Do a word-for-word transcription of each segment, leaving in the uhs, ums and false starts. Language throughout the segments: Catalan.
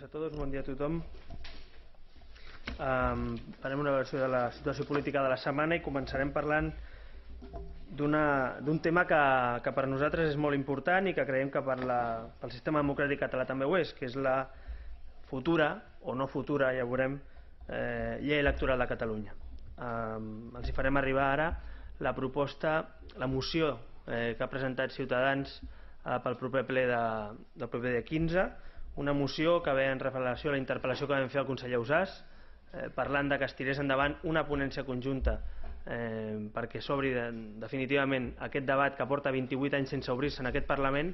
a tots, bon dia a tothom. Um, farem una versió de la situació política de la setmana i començarem parlant d'un tema que, que per nosaltres és molt important i que creiem que per la, pel sistema democràtic català també ho és, que és la futura, o no futura, ja ho veurem, eh, llei electoral de Catalunya. Um, els hi farem arribar ara la proposta, la moció eh, que ha presentat Ciutadans eh, pel proper ple de, del proper dia quinze, una moció que ve en relació a la interpel·lació que vam fer al conseller Ausàs, eh, parlant de que es tirés endavant una ponència conjunta eh, perquè s'obri de, definitivament aquest debat que porta vint-i-vuit anys sense obrir-se en aquest Parlament.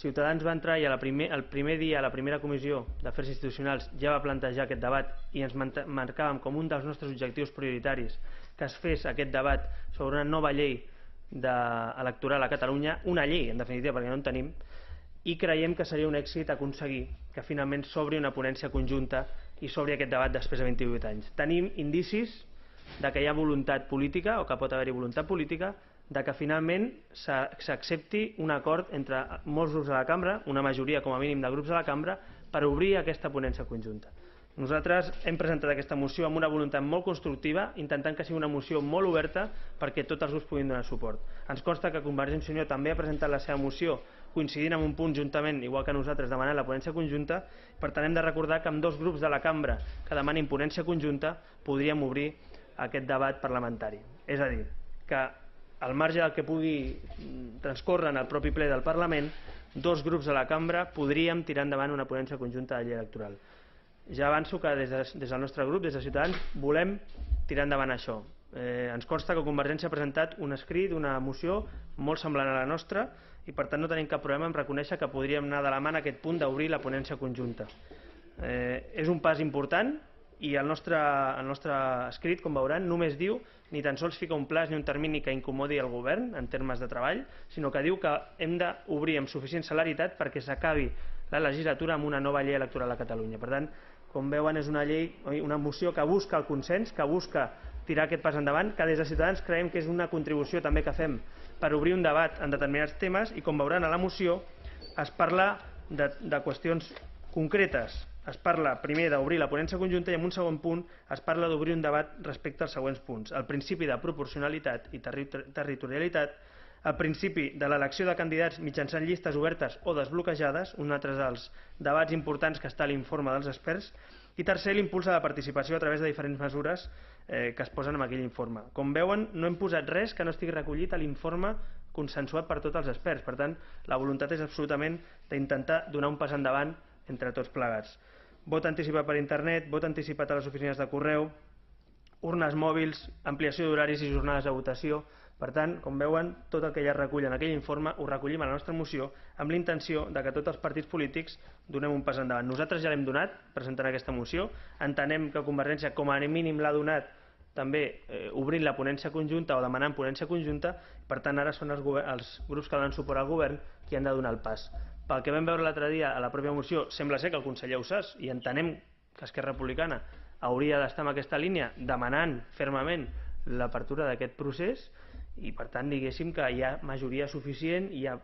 Ciutadans va entrar i a la primer, el primer dia a la primera comissió d'Afers Institucionals ja va plantejar aquest debat i ens marcàvem com un dels nostres objectius prioritaris que es fes aquest debat sobre una nova llei de, electoral a Catalunya, una llei en definitiva perquè no en tenim, i creiem que seria un èxit aconseguir que finalment s'obri una ponència conjunta i s'obri aquest debat després de vint-i-vuit anys. Tenim indicis de que hi ha voluntat política o que pot haver-hi voluntat política de que finalment s'accepti un acord entre molts grups de la cambra, una majoria com a mínim de grups de la cambra, per obrir aquesta ponència conjunta. Nosaltres hem presentat aquesta moció amb una voluntat molt constructiva, intentant que sigui una moció molt oberta perquè tots els grups puguin donar suport. Ens consta que Convergència i Unió també ha presentat la seva moció coincidint en un punt juntament, igual que nosaltres, demanant la ponència conjunta. Per tant, hem de recordar que amb dos grups de la cambra que demanin ponència conjunta podríem obrir aquest debat parlamentari. És a dir, que al marge del que pugui transcórrer en el propi ple del Parlament, dos grups de la cambra podríem tirar endavant una ponència conjunta de llei electoral. Ja avanço que des, de, des del nostre grup, des de Ciutadans, volem tirar endavant això. Eh, ens consta que Convergència ha presentat un escrit, una moció molt semblant a la nostra i per tant no tenim cap problema en reconèixer que podríem anar de la mà en aquest punt d'obrir la ponència conjunta. Eh, és un pas important i el nostre, el nostre escrit, com veuran, només diu, ni tan sols fica un plaç ni un termini que incomodi el govern en termes de treball, sinó que diu que hem d'obrir amb suficient celeritat perquè s'acabi la legislatura amb una nova llei electoral a Catalunya. Per tant, com veuen, és una llei, una moció que busca el consens, que busca tirar aquest pas endavant, que des de Ciutadans creiem que és una contribució també que fem per obrir un debat en determinats temes i, com veuran a la moció, es parla de, de qüestions concretes. Es parla primer d'obrir la ponència conjunta i en un segon punt es parla d'obrir un debat respecte als següents punts. El principi de proporcionalitat i terri territorialitat, el principi de l'elecció de candidats mitjançant llistes obertes o desbloquejades, un altre dels debats importants que està a l'informe dels experts, i tercer, l'impuls a la participació a través de diferents mesures eh, que es posen en aquell informe. Com veuen, no hem posat res que no estigui recollit a l'informe consensuat per tots els experts. Per tant, la voluntat és absolutament d'intentar donar un pas endavant entre tots plegats. Vot anticipat per internet, vot anticipat a les oficines de correu, urnes mòbils, ampliació d'horaris i jornades de votació. Per tant, com veuen, tot el que ja es recull en aquell informe ho recollim a la nostra moció amb la intenció de que tots els partits polítics donem un pas endavant. Nosaltres ja l'hem donat presentant aquesta moció, entenem que Convergència com a mínim l'ha donat també eh, obrint la ponència conjunta o demanant ponència conjunta, per tant ara són els, els grups que donen suport al govern qui han de donar el pas. Pel que vam veure l'altre dia a la pròpia moció, sembla ser que el conseller Ausàs, i entenem que Esquerra Republicana hauria d'estar en aquesta línia demanant fermament l'apertura d'aquest procés i per tant diguéssim que hi ha majoria suficient, hi ha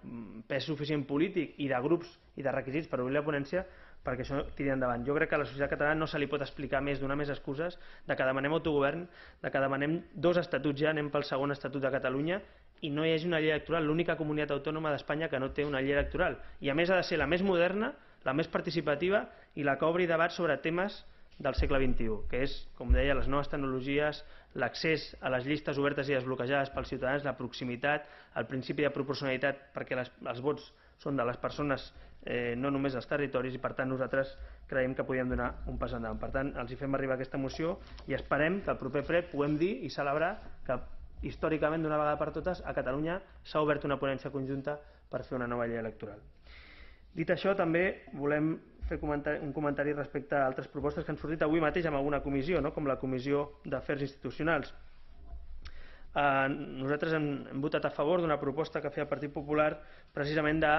pes suficient polític i de grups i de requisits per obrir la ponència perquè això tiri endavant. Jo crec que a la societat catalana no se li pot explicar més, donar més excuses de que demanem autogovern, de que demanem dos estatuts ja, anem pel segon estatut de Catalunya i no hi hagi una llei electoral, l'única comunitat autònoma d'Espanya que no té una llei electoral i a més ha de ser la més moderna, la més participativa i la que obri debats sobre temes del segle vint-i-u, que és, com deia, les noves tecnologies, l'accés a les llistes obertes i desbloquejades pels ciutadans, la proximitat, el principi de proporcionalitat perquè les, els vots són de les persones, eh, no només dels territoris, i per tant nosaltres creiem que podíem donar un pas endavant. Per tant, els hi fem arribar aquesta moció i esperem que el proper ple puguem dir i celebrar que històricament d'una vegada per totes a Catalunya s'ha obert una ponència conjunta per fer una nova llei electoral. Dit això, també volem fer un comentari respecte a altres propostes que han sortit avui mateix en alguna comissió, no? Com la Comissió d'Afers Institucionals. Eh, nosaltres hem, hem votat a favor d'una proposta que feia el Partit Popular precisament de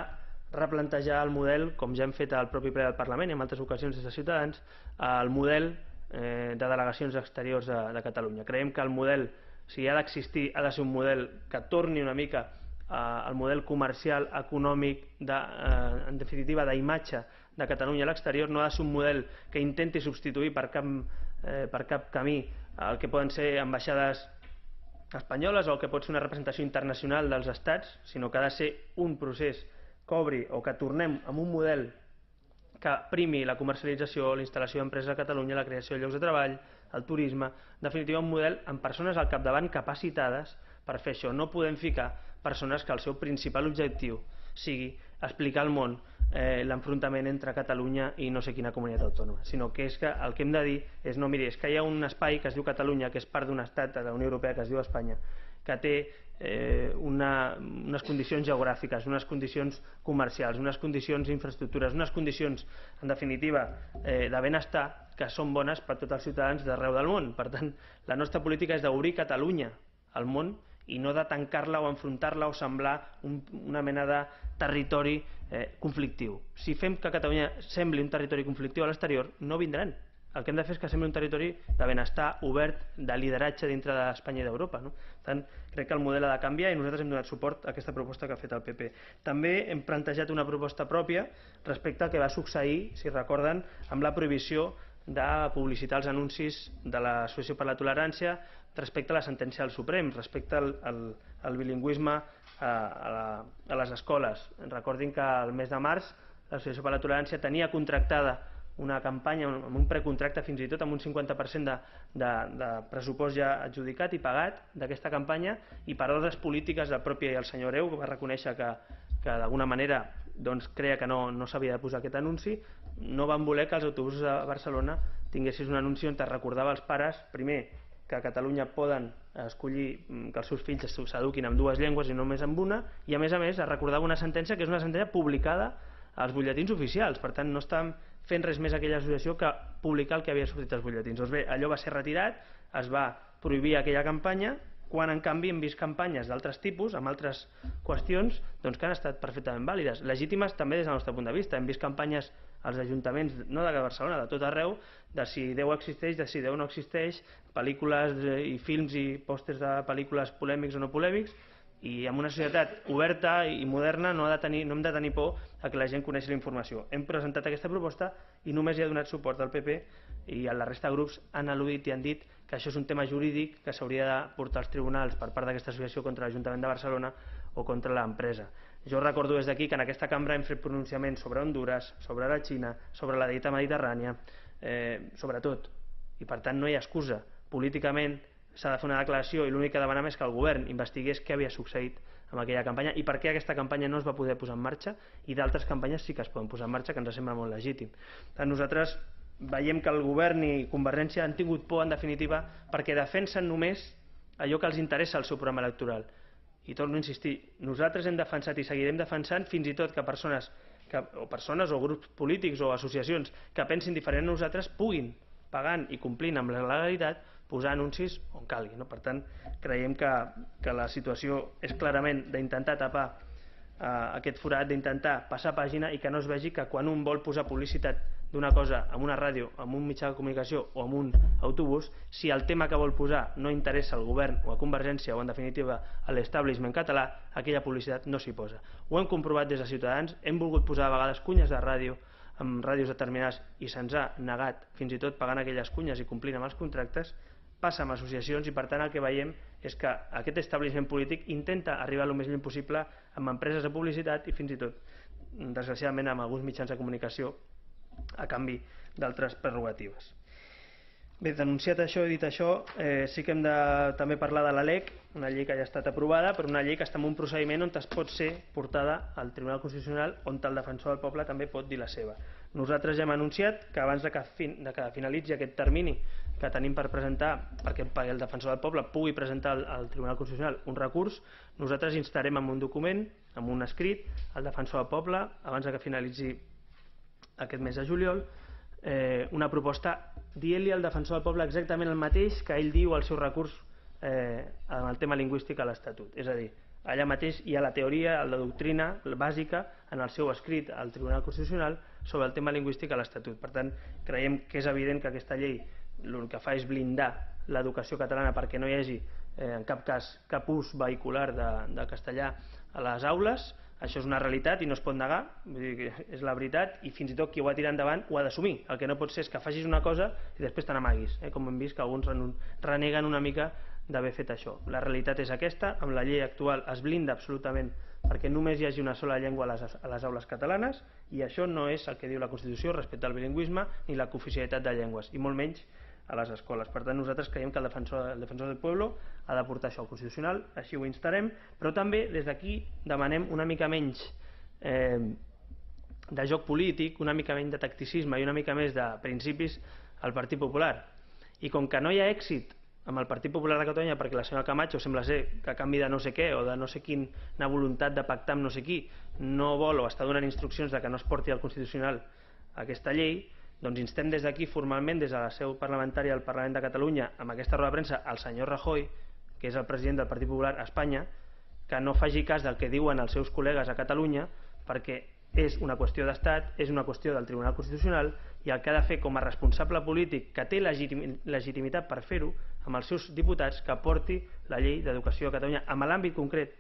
replantejar el model, com ja hem fet al propi ple del Parlament i en altres ocasions des de Ciutadans, el model eh, de delegacions exteriors de, de Catalunya. Creiem que el model, si ha d'existir, ha de ser un model que torni una mica el model comercial, econòmic, en definitiva d'imatge de Catalunya a l'exterior, no ha de ser un model que intenti substituir per cap camí el que poden ser ambaixades espanyoles o el que pot ser una representació internacional dels estats, sinó que ha de ser un procés que obri o que tornem a un model que primi la comercialització, la instal·lació d'empreses a Catalunya, la creació de llocs de treball, el turisme, en definitiva un model amb persones al capdavant capacitades per fer això. No podem ficar persones que el seu principal objectiu sigui explicar al món l'enfrontament entre Catalunya i no sé quina comunitat autònoma, sinó que és que el que hem de dir és no, miri, és que hi ha un espai que es diu Catalunya, que és part d'un estat de la Unió Europea que es diu Espanya, que té unes condicions geogràfiques, unes condicions comercials, unes condicions d'infraestructures, unes condicions, en definitiva, de benestar que són bones per a tots els ciutadans d'arreu del món. Per tant, la nostra política és d'obrir Catalunya al món i no de tancar-la o enfrontar-la o semblar una mena de territori conflictiu. Si fem que Catalunya sembli un territori conflictiu a l'exterior, no vindran. El que hem de fer és que sembli un territori de benestar obert, de lideratge dintre d'Espanya i d'Europa. Per tant, crec que el model ha de canviar i nosaltres hem donat suport a aquesta proposta que ha fet el P P. També hem plantejat una proposta pròpia respecte al que va succeir, si recorden, amb la prohibició de publicitar els anuncis de l'Associació per la Tolerància respecte a la sentència del Suprem, respecte al bilingüisme a les escoles. Recordin que el mes de març l'Associació per la Tolerància tenia contractada una campanya, amb un precontracte fins i tot amb un cinquanta per cent de pressupost ja adjudicat i pagat d'aquesta campanya, i per ordres polítiques del propi el senyor Hereu, que va reconèixer que d'alguna manera creia que no s'havia de posar aquest anunci, no van voler que els autobusos de Barcelona tinguessin un anunci on es recordava als pares, primer, que a Catalunya poden escollir que els seus fills s'eduquin en dues llengües i no només en una, i a més a més es recordava una sentència que és una sentència publicada als butlletins oficials. Per tant, no estàvem fent res més aquella associació que publicar el que havia sortit als butlletins. Doncs bé, allò va ser retirat, es va prohibir aquella campanya, quan en canvi hem vist campanyes d'altres tipus, amb altres qüestions, que han estat perfectament vàlides, legítimes també des del nostre punt de vista. Hem vist campanyes als ajuntaments, no de Barcelona, de tot arreu, de si Déu existeix, de si Déu no existeix, pel·lícules i films i pòsters de pel·lícules polèmics o no polèmics, i en una societat oberta i moderna no hem de tenir por a que la gent coneixi la informació. Hem presentat aquesta proposta i només hi ha donat suport al P P, i la resta de grups han al·ludit i han dit que això és un tema jurídic que s'hauria de portar als tribunals per part d'aquesta associació contra l'Ajuntament de Barcelona o contra l'empresa. Jo recordo des d'aquí que en aquesta cambra hem fet pronunciaments sobre Hondures, sobre la Xina, sobre la dieta mediterrània, sobre tot, i per tant no hi ha excusa. Políticament s'ha de fer una declaració i l'únic que demanem és que el govern investigués què havia succeït amb aquella campanya i per què aquesta campanya no es va poder posar en marxa i d'altres campanyes sí que es poden posar en marxa, que ens sembla molt legítim. Nosaltres veiem que el govern i Convergència han tingut por, en definitiva, perquè defensen només allò que els interessa al seu programa electoral. I torno a insistir, nosaltres hem defensat i seguirem defensant fins i tot que persones o persones o grups polítics o associacions que pensin diferent a nosaltres puguin, pagant i complint amb la legalitat, posar anuncis on calgui. Per tant, creiem que la situació és clarament d'intentar tapar aquest forat, d'intentar passar pàgina i que no es vegi que quan un vol posar publicitat d'una cosa en una ràdio, en un mitjà de comunicació o en un autobús, si el tema que vol posar no interessa al govern o a Convergència o en definitiva a l'establishment català, aquella publicitat no s'hi posa. Ho hem comprovat des de Ciutadans, hem volgut posar a vegades cunyes de ràdio amb ràdios determinades i se'ns ha negat, fins i tot pagant aquelles cunyes i complint amb els contractes. Passa amb associacions i per tant el que veiem és que aquest establishment polític intenta arribar el més lluny possible amb empreses de publicitat i fins i tot, desgraciadament, amb alguns mitjans de comunicació a canvi d'altres prerrogatives. Bé, denunciat això i dit això, sí que hem de també parlar de la LEC, una llei que ja ha estat aprovada, però una llei que està en un procediment on es pot ser portada al Tribunal Constitucional, on el defensor del poble també pot dir la seva. Nosaltres ja hem anunciat que abans que finalitzi aquest termini que tenim per presentar, perquè el defensor del poble pugui presentar al Tribunal Constitucional un recurs, nosaltres instarem en un document, en un escrit, al defensor del poble, abans que finalitzi aquest mes de juliol, una proposta dient-li al defensor del poble exactament el mateix que ell diu al seu recurs en el tema lingüístic a l'Estatut. És a dir, allà mateix hi ha la teoria, la doctrina bàsica en el seu escrit al Tribunal Constitucional sobre el tema lingüístic a l'Estatut. Per tant, creiem que és evident que aquesta llei el que fa és blindar l'educació catalana perquè no hi hagi en cap cas cap ús vehicular de castellà a les aules, això és una realitat i no es pot negar, vull dir que és la veritat, i fins i tot qui ho ha tirat endavant ho ha d'assumir. El que no pot ser és que facis una cosa i després te n'amaguis, eh? Com hem vist que alguns reneguen una mica d'haver fet això. La realitat és aquesta, amb la llei actual es blinda absolutament perquè només hi hagi una sola llengua a les, a les aules catalanes, i això no és el que diu la Constitució respecte al bilingüisme ni la cooficialitat de llengües, i molt menys a les escoles. Per tant, nosaltres creiem que el defensor, el defensor del pueblo ha de portar això al Constitucional, així ho instarem, però també des d'aquí demanem una mica menys eh, de joc polític, una mica menys de tacticisme i una mica més de principis al Partit Popular. I com que no hi ha èxit amb el Partit Popular de Catalunya perquè la senyora Camacho sembla ser que a canvi de no sé què o de no sé quina voluntat de pactar amb no sé qui no vol o està donant instruccions de que no es porti al Constitucional aquesta llei, doncs instem des d'aquí formalment, des de la seu parlamentària del Parlament de Catalunya, amb aquesta roda de premsa, al senyor Rajoy, que és el president del Partit Popular a Espanya, que no faci cas del que diuen els seus col·legues a Catalunya, perquè és una qüestió d'estat, és una qüestió del Tribunal Constitucional, i el que ha de fer com a responsable polític, que té legitimitat per fer-ho, amb els seus diputats, que porti la llei d'educació a Catalunya amb l'àmbit concret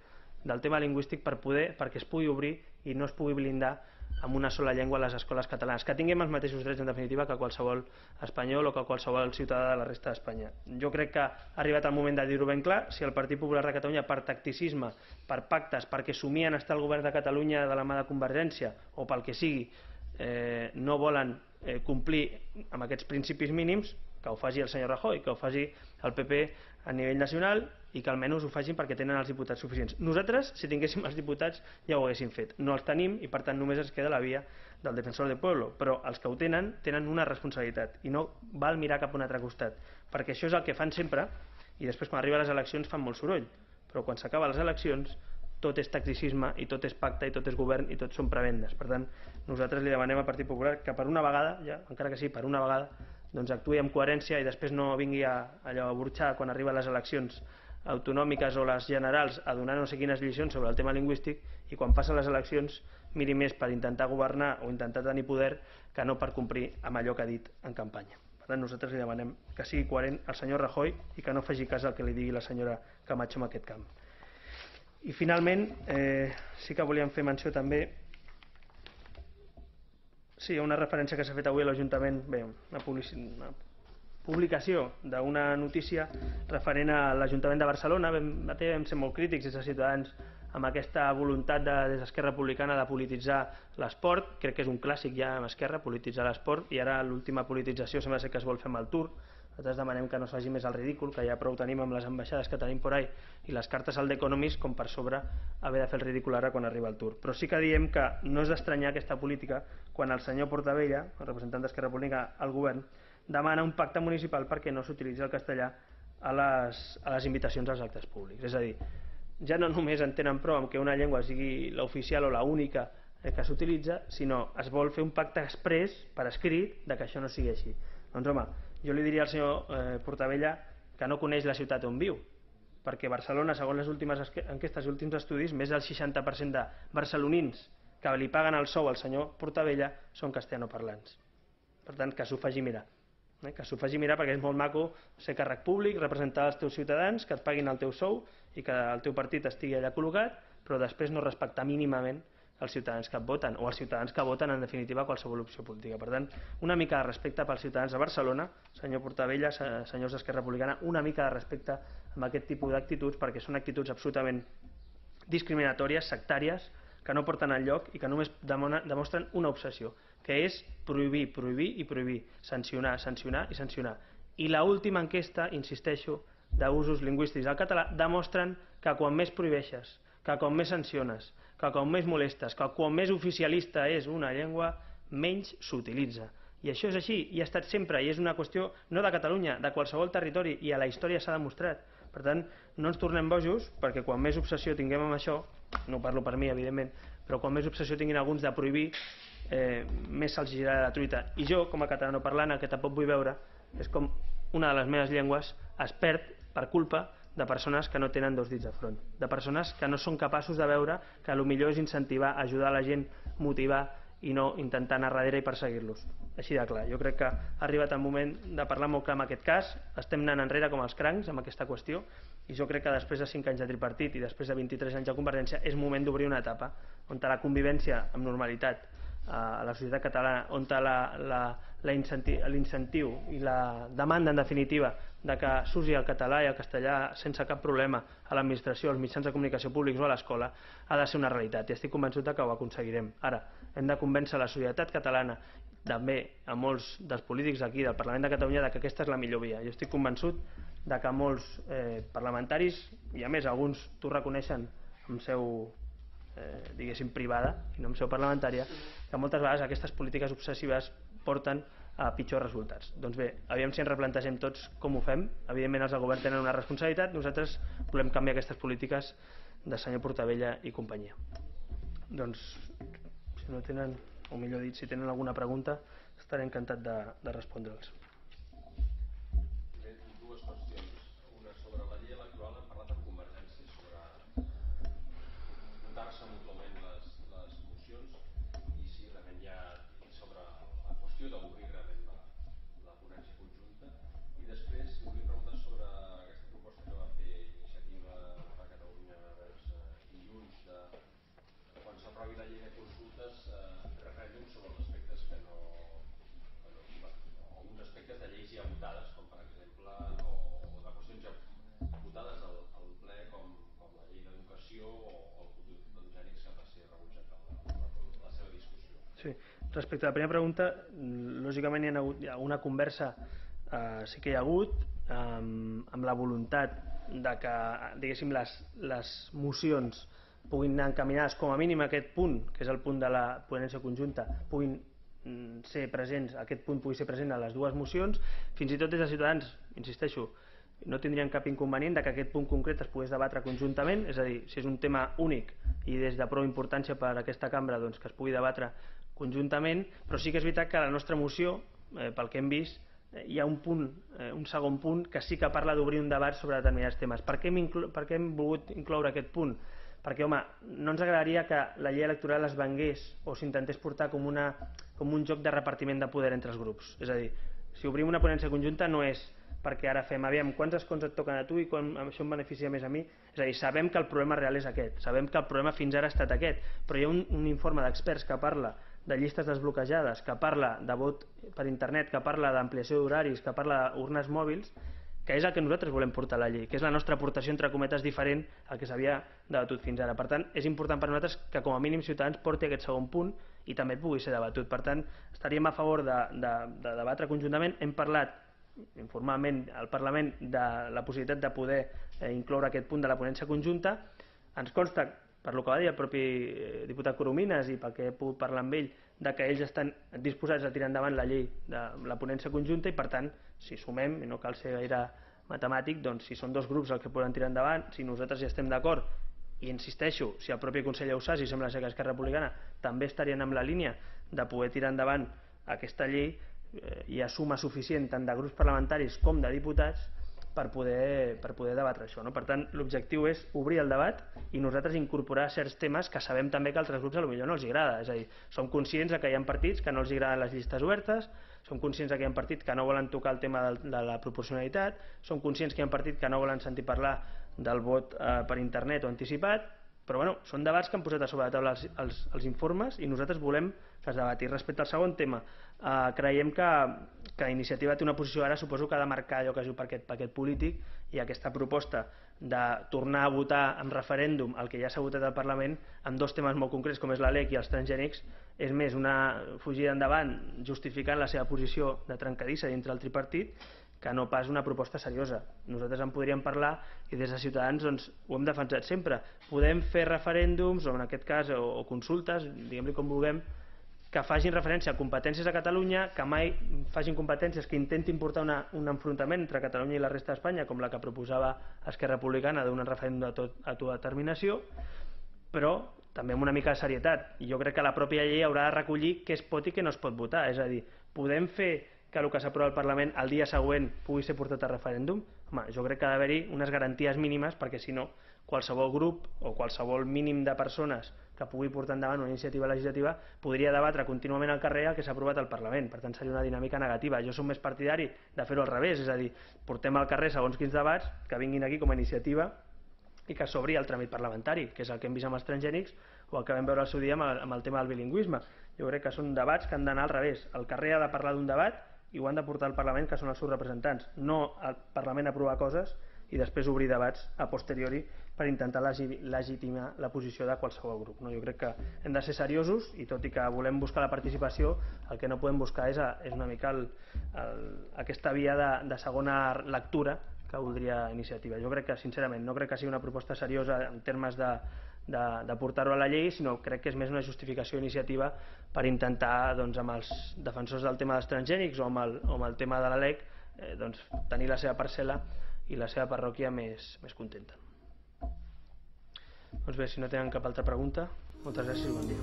del tema lingüístic per poder, perquè es pugui obrir i no es pugui blindar amb una sola llengua a les escoles catalanes, que tinguem els mateixos drets en definitiva que qualsevol espanyol o que qualsevol ciutadà de la resta d'Espanya. Jo crec que ha arribat el moment de dir-ho ben clar. Si el Partit Popular de Catalunya, per tacticisme, per pactes, perquè somien estar al govern de Catalunya de la mà de Convergència o pel que sigui, eh, no volen eh, complir amb aquests principis mínims, que ho faci el senyor Rajoy, que ho faci el P P a nivell nacional, i que almenys ho facin perquè tenen els diputats suficients. Nosaltres, si tinguéssim els diputats, ja ho haguéssim fet. No els tenim i per tant només ens queda la via del defensor del pueblo, però els que ho tenen tenen una responsabilitat i no val mirar cap a un altre costat, perquè això és el que fan sempre i després quan arriben les eleccions fan molt soroll, però quan s'acaben les eleccions tot és tacticisme i tot és pacte i tot és govern i tot són prebendes. Per tant, nosaltres li demanem al Partit Popular que per una vegada, ja, encara que sí, per una vegada, doncs actuï amb coherència i després no vingui a, allò, a burxar quan arriben les eleccions autonòmiques o les generals a donar no sé quines lliçons sobre el tema lingüístic i quan passen les eleccions miri més per intentar governar o intentar tenir poder que no per complir amb allò que ha dit en campanya. Per tant, nosaltres li demanem que sigui coherent el senyor Rajoy i que no faci cas al que li digui la senyora Camacho en aquest camp. I finalment, eh, sí que volíem fer menció també, sí, una referència que s'ha fet avui a l'Ajuntament, bé, una, una publicació d'una notícia referent a l'Ajuntament de Barcelona. Vam, vam ser molt crítics des de Ciutadans amb aquesta voluntat de, des d'Esquerra Republicana de polititzar l'esport. Crec que és un clàssic ja amb Esquerra, polititzar l'esport, i ara l'última politització sembla ser que es vol fer amb el Tour. Nosaltres demanem que no es faci més el ridícul, que ja prou tenim amb les ambaixades que tenim por ahí i les cartes al The Economist com per sobre haver de fer el ridícul ara quan arriba el Tour. Però sí que diem que no és d'estranyar aquesta política quan el senyor Portabella, el representant d'Esquerra Republicana al govern, demana un pacte municipal perquè no s'utilitzi el castellà a les, a les invitacions als actes públics. És a dir, ja no només en tenen prou amb que una llengua sigui l'oficial o l'única que s'utilitza, sinó es vol fer un pacte exprés per escrit de que això no sigui així. Doncs home, jo li diria al senyor eh, Portabella que no coneix la ciutat on viu, perquè Barcelona, segons les últimes enquestes i últims estudis, més del seixanta per cent de barcelonins que li paguen el sou al senyor Portabella són castellanoparlants. Per tant, que s'ho faci mirar. Eh? Que s'ho faci mirar perquè és molt maco ser càrrec públic, representar els teus ciutadans, que et paguin el teu sou i que el teu partit estigui allà col·locat, però després no respectar mínimament els ciutadans que et voten, o els ciutadans que voten en definitiva qualsevol opció política. Per tant, una mica de respecte pels ciutadans de Barcelona, senyor Portabella, senyors d'Esquerra Republicana, una mica de respecte amb aquest tipus d'actituds, perquè són actituds absolutament discriminatòries, sectàries, que no porten enlloc i que només demostren una obsessió, que és prohibir, prohibir i prohibir, sancionar, sancionar i sancionar. I l'última enquesta, insisteixo, d'usos lingüístics del català demostren que quan més prohibeixes, que quan més sanciones, que quan més molestes, que quan més oficialista és una llengua, menys s'utilitza. I això és així, i ha estat sempre, i és una qüestió no de Catalunya, de qualsevol territori, i a la història s'ha demostrat. Per tant, no ens tornem bojos, perquè quan més obsessió tinguem amb això, no parlo per mi, evidentment, però quan més obsessió tinguin alguns de prohibir, eh, més se'ls girarà la truita. I jo, com a catalanoparlant, el que tampoc vull veure és com una de les meves llengües es perd per culpa de persones que no tenen dos dits de front, de persones que no són capaços de veure que el millor és incentivar, ajudar la gent, motivar i no intentar anar darrere i perseguir-los. Així de clar. Jo crec que ha arribat el moment de parlar molt clar en aquest cas. Estem anant enrere com els crancs amb aquesta qüestió i jo crec que després de cinc anys de tripartit i després de vint-i-tres anys de Convergència és moment d'obrir una etapa on la convivència amb normalitat a la societat catalana, on l'incentiu i la demanda en definitiva de que s'usi el català i el castellà sense cap problema a l'administració, als mitjans de comunicació públics o a l'escola ha de ser una realitat i estic convençut que ho aconseguirem. Ara, hem de convèncer la societat catalana, també a molts dels polítics aquí del Parlament de Catalunya, de que aquesta és la millor via. Jo estic convençut de que molts eh, parlamentaris, i a més alguns t'ho reconeixen amb seu eh, diguéssim privada i no amb seu parlamentària, que moltes vegades aquestes polítiques obsessives porten a pitjors resultats. Doncs bé, aviam si ens replantegem tots com ho fem. Evidentment els del govern tenen una responsabilitat, nosaltres volem canviar aquestes polítiques de senyor Portabella i companyia. Doncs si no tenen, o millor dit, si tenen alguna pregunta estaré encantat de, de respondre'ls. Dues qüestions. Una sobre la llei electoral, hem parlat amb Convergència sobre votar-se mútuament les, les mocions i si realment hi ha sobre la qüestió d'obrir realment la, la ponència conjunta. I després volia preguntar sobre aquesta proposta que va fer Iniciativa per Catalunya vers dilluns de quan s'aprovi la llei de consultes, eh, referèndum sobre els aspectes que no, que no alguns aspectes de lleis ja votades, com per exemple, o, o de qüestions ja votades al, al ple, com, com la llei d'educació o, o el futur dels gènics, que va ser rebutjat a la, la, la seva discussió. Sí. Respecte a la primera pregunta, lògicament hi ha hagut hi ha una conversa, eh, sí que hi ha hagut, eh, amb la voluntat de que, diguéssim, les, les mocions puguin anar encaminades com a mínim a aquest punt, que és el punt de la ponència conjunta, puguin ser presents, aquest punt pugui ser present a les dues mocions. Fins i tot des de Ciutadans, insisteixo, no tindrien cap inconvenient de que aquest punt concret es pogués debatre conjuntament, és a dir, si és un tema únic i des de prou importància per a aquesta cambra, doncs que es pugui debatre conjuntament, però sí que és veritat que a la nostra moció, eh, pel que hem vist, eh, hi ha un punt, eh, un segon punt que sí que parla d'obrir un debat sobre determinats temes. Per què hem, per què hem volgut incloure aquest punt? Perquè, home, no ens agradaria que la llei electoral es vengués o s'intentés portar com, una, com un joc de repartiment de poder entre els grups. És a dir, si obrim una ponència conjunta no és perquè ara fem, aviam, quants escons et toquen a tu i quan això em beneficia més a mi. És a dir, sabem que el problema real és aquest, sabem que el problema fins ara ha estat aquest, però hi ha un, un informe d'experts que parla de llistes desbloquejades, que parla de vot per internet, que parla d'ampliació d'horaris, que parla d'urnes mòbils, que és el que nosaltres volem portar a la llei, que és la nostra aportació entre cometes diferent al que s'havia debatut fins ara. Per tant, és important per nosaltres que com a mínim Ciutadans porti aquest segon punt i també pugui ser debatut. Per tant, estaríem a favor de, de, de debatre conjuntament. Hem parlat informalment al Parlament de la possibilitat de poder eh, incloure aquest punt de la ponència conjunta. Ens consta, per lo que va dir el propi diputat Coromines i pel que he pogut parlar amb ell, de que ells estan disposats a tirar endavant la llei de la ponència conjunta i per tant, si sumem, i no cal ser gaire matemàtic, doncs si són dos grups els que poden tirar endavant, si nosaltres ja estem d'acord, i insisteixo, si el propi Consell Ausàs, i sembla ser que Esquerra Republicana també estarien amb la línia de poder tirar endavant aquesta llei, eh, hi ha suma suficient tant de grups parlamentaris com de diputats per poder, per poder debatre això, no? Per tant, l'objectiu és obrir el debat i nosaltres incorporar certs temes que sabem també que a altres grups potser no els agrada. És a dir, som conscients que hi ha partits que no els agraden les llistes obertes, som conscients que hi ha partits que no volen tocar el tema de la proporcionalitat, som conscients que hi ha partits que no volen sentir parlar del vot eh, per internet o anticipat, però bueno, són debats que han posat a sobre la taula els, els, els informes i nosaltres volem que es debati. Respecte al segon tema, eh, creiem que, que Iniciativa té una posició ara, suposo que ha de marcar allò que es diu per aquest paquet polític, i aquesta proposta de tornar a votar en referèndum el que ja s'ha votat al Parlament en dos temes molt concrets com és la Lec i els transgènics és més una fugida endavant justificant la seva posició de trencadissa dintre el tripartit que no pas una proposta seriosa. Nosaltres en podríem parlar i des de Ciutadans doncs, ho hem defensat sempre. Podem fer referèndums o en aquest cas o, o consultes, diguem-li com vulguem, que facin referència a competències de Catalunya, que mai facin competències que intentin portar una, un enfrontament entre Catalunya i la resta d'Espanya, com la que proposava Esquerra Republicana d'un referèndum d'autodeterminació, però també amb una mica de serietat. I jo crec que la pròpia llei haurà de recollir què es pot i què no es pot votar. És a dir, podem fer que el que s'aprova al Parlament el dia següent pugui ser portat a referèndum? Home, jo crec que ha d'haver-hi unes garanties mínimes perquè si no, qualsevol grup o qualsevol mínim de persones que pugui portar endavant una iniciativa legislativa podria debatre contínuament al carrer el que s'ha aprovat al Parlament. Per tant, seria una dinàmica negativa. Jo som més partidari de fer-ho al revés, és a dir, portem al carrer segons quins debats que vinguin aquí com a iniciativa i que s'obri el tràmit parlamentari, que és el que hem vist amb els transgènics o el que vam veure al seu dia amb el, amb el tema del bilingüisme. Jo crec que són debats que han d'anar al revés. El carrer ha de parlar d'un debat i ho han de portar al Parlament, que són els seus representants, no al Parlament aprovar coses i després obrir debats a posteriori per intentar legitimar la posició de qualsevol grup. No? Jo crec que hem de ser seriosos i tot i que volem buscar la participació, el que no podem buscar és, és una mica el, el, aquesta via de, de segona lectura que voldria iniciativa. Jo crec que, sincerament, no crec que sigui una proposta seriosa en termes de, de, de portar-ho a la llei, sinó crec que és més una justificació iniciativa per intentar, doncs, amb els defensors del tema dels transgènics o amb el, o amb el tema de la L E C eh, doncs, tenir la seva parcel·la i la seva parròquia més, més contenta. Doncs bé, si no tenen cap altra pregunta, moltes gràcies i bon dia.